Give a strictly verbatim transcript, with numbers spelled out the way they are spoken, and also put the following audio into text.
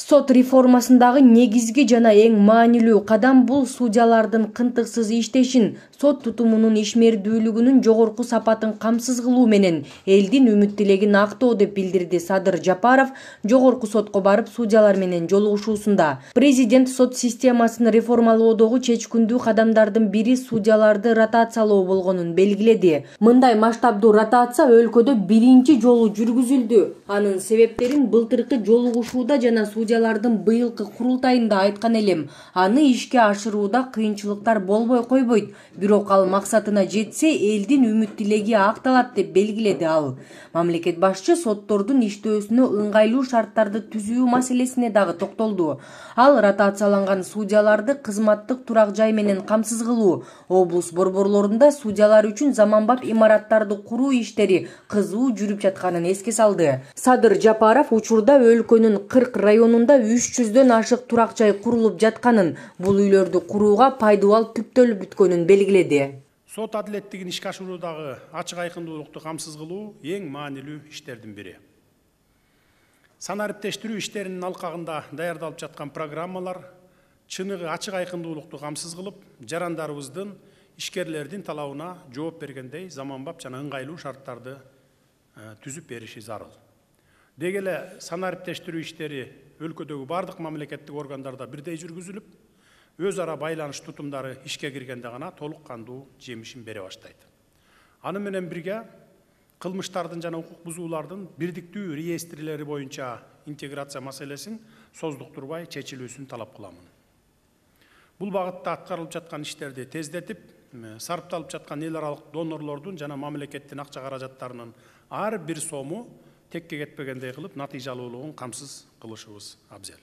Сот реформасындагы негизги жана эң маанилүү кадам бул судьялардын кынтыксыз иштешин, сот тутумунун ишмердүүлүгүнүн жогорку сапатын камсыз кылуу менен элдин үмүт тилегин актоо деп билдирди Садыр Жапаров жогорку сотко барып судьялар менен жолугушуусунда. Президент сот системасын реформалоодогу чечкиндүү кадамдардын бири судьяларды ротациялоо болгонун белгиледи. Мындай масштабдуу ротация өлкөдө биринчи жолу жүргүзүлдү. Анын себептерин былтыркы жолугушууда жана судьялардын быйылкы курултайында айткан элем. Аны ишке ашырууда кыйынчылыктар болбой койбойт, бирок ал максатына жетсе, элдин үмүт тилеги акталат деп белгиледи ал. Мамлекет башчы соттордун иштөөсүнө ыңгайлуу шарттарды түзүү маселесине дагы токтолду. Ал ротацияланган судьяларды кызматтык турак жай менен камсыз кылуу, облус борборлорунда судьялар үчүн заманбап имараттарды куруу иштери кызуу жүрүп жатканын эске салды. Садыр Жапаров учурда өлкөнүн кырк районунда үч жүздөн ашык турак жай курулуп жатканын, бул үйлөрдү курууга пайдубал түптөлүп бүткөнүн белгиледи. Сот адилеттигин ишке ашыруудагы ачык айкындуулукту камсыз кылуу эң маанилүү иштердин бири. Сан ариптештирүү иштеринин алкагында даярдалып жаткан программалар чыныгы ачык айкындуулукту камсыз кылып, жарандарыбыздын, ишкерлердин талабына жооп бергендей заманбап жана ыңгайлуу шарттарды түзүп бериши зарыл. Деги эле сан ариптештирүү иштери өлкөдөгү бардык мамлекеттик органдарда бирдей жүргүзүлүп, өз ара байланыш тутумдары ишке киргенде гана толук кандуу жемишин бере баштайт. Аны менен бирге кылмыштардын жана укук бузуулардын бирдиктүү реестрлери боюнча интеграция маселесин создуктурбай чечилүүсүн талап кыламын. Бул багытта аткарылып жаткан иштерди тездетип, сарпталып жаткан эл аралык донорлордун жана мамлекеттин акча каражаттарынын ар бир сому текке кетпегендей кылып, натыйжалуулугун камсыз кылышыбыз абзел.